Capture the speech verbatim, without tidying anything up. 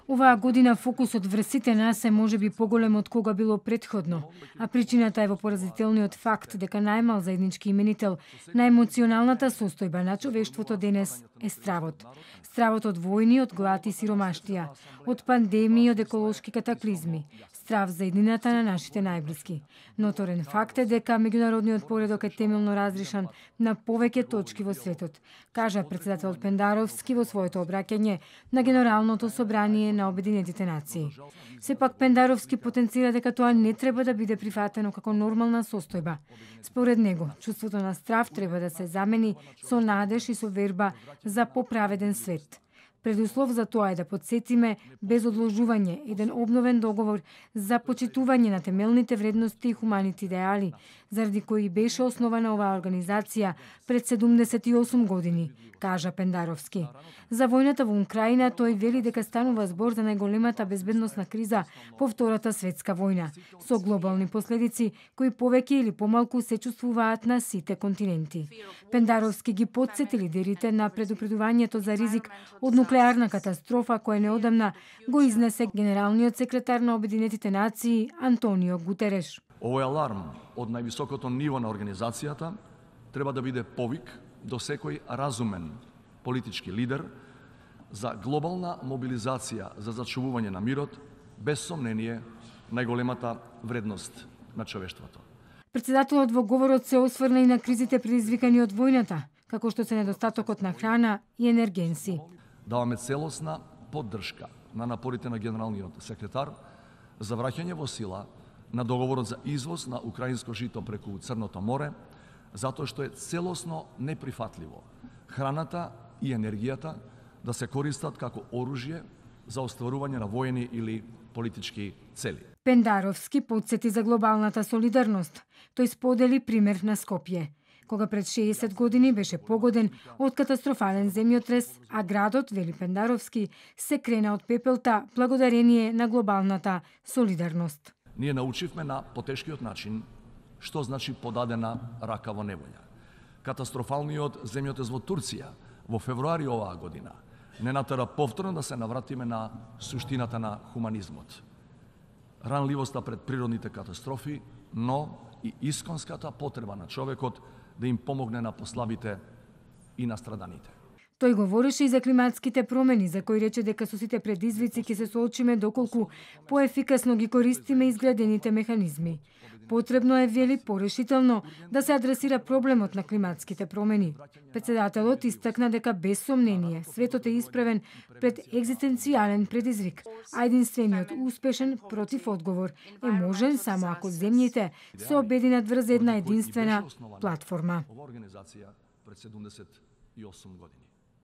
Оваа година фокусот врз сите нас е можеби поголем од кога било претходно, а причината е во поразителниот факт дека најмал заеднички именител на емоционалната состојба на човештвото денес е стравот. Стравот од војни, од глад и сиромаштија, од пандемии, од еколошки катаклизми, страв за еднината на нашите најблиски. Ноторен факт е дека меѓународниот поредок е темелно разришан на повеќе точки во светот, кажа претседателот Пендаровски во своето обраќање на Генералното собрание на Обединетите нации. Сепак Пендаровски потенцира дека тоа не треба да биде прифатено како нормална состојба. Според него, чувството на страв треба да се замени со надеж и со верба за поправеден свет. Предуслов за тоа е да подсетиме без одложување еден обновен договор за почитување на темелните вредности и хуманите идеали, заради кои беше основана оваа организација пред седумдесет и осум години, кажа Пендаровски. За војната во Украина тој вели дека станува збор за најголемата безбедносна криза по Втората светска војна, со глобални последици кои повеќе или помалку се чувствуваат на сите континенти. Пендаровски ги потсети лидерите на предупредувањето за ризик од нуклеарна катастрофа која неодамна го изнесе генералниот секретар на Обединетите нации Антонио Гутереш. Овој аларм од највисокото ниво на организацијата треба да биде повик до секој разумен политички лидер за глобална мобилизација за зачувување на мирот, без сомнение најголемата вредност на човештвото. Председателот во говорот се осврна и на кризите предизвикани од војната, како што се недостатокот на храна и енергенси. Даваме целосна поддршка на напорите на генералниот секретар за враќање во сила на договорот за извоз на украинско жито преку Црното море, затоа што е целосно неприфатливо храната и енергијата да се користат како оружје за остварување на воени или политички цели. Пендаровски потсети за глобалната солидарност. Тој сподели пример на Скопје, кога пред шеесет години беше погоден од катастрофален земјотрес, а градот, вели Пендаровски, се крена од пепелта благодарение на глобалната солидарност. Ние научивме на потешкиот начин што значи подадена рака во неволја. Катастрофалниот земјотрес во Турција во февруари оваа година не натера повторно да се навратиме на суштината на хуманизмот. Ранливоста пред природните катастрофи, но и исконската потреба на човекот да им помогне на послабите и на страданите. Тој говореше и за климатските промени, за кои рече дека со сите предизвици ќе се соочиме доколку поефикасно ги користиме изградените механизми. Потребно е, вели, порешително да се адресира проблемот на климатските промени. Председателот истакна дека без сомнение светот е исправен пред екзистенцијален предизвик, а единствениот успешен против одговор е можен само ако земјите се обединат врз една единствена платформа. Ова организација пред седумдесет и осум години.